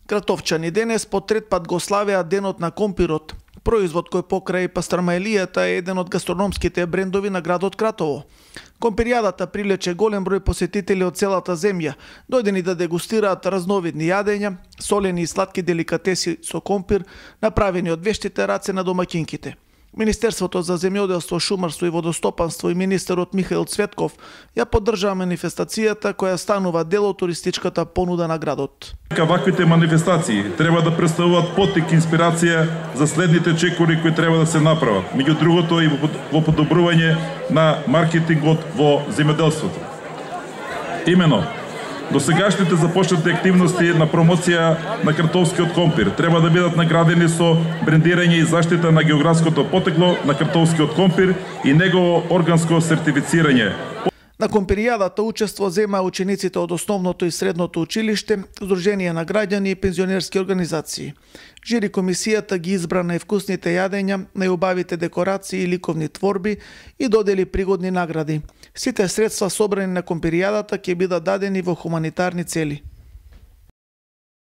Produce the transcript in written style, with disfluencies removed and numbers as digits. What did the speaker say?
Гратовчани денес по трет пат го славеа денот на компирот, производ кој покрај пастрамаелијата е еден од гастрономските брендови на градот Кратово. Компиријадата привлече голем број посетители од целата земја, дојдени да дегустираат разновидни јадења, солени и сладки деликатеси со компир, направени од вештите раце на домаќинките. Министерството за земјоделство, шумарство и водостопанство и министерот Михаил Цветков ја поддржаа манифестацијата која станува дел од туристичката понуда на градот. Ваквите манифестации треба да представуваат поттик инспирација за следните чекори кои треба да се направат, меѓу другото и во подобрување на маркетингот во земјоделството. Имено, досегашните започнати активности на промоција на кратовскиот компир треба да бидат наградени со брендирање и заштита на географското потекло на кратовскиот компир и негово органско сертифицирање. На компиријадата учество зема учениците од основното и средното училиште, Сдружение на граѓани и пензионерски организации. Жири комисијата ги избра највкусните јадења, најубавите декорации и ликовни творби и додели пригодни награди. Сите средства собрани на компиријадата ќе бидат дадени во хуманитарни цели.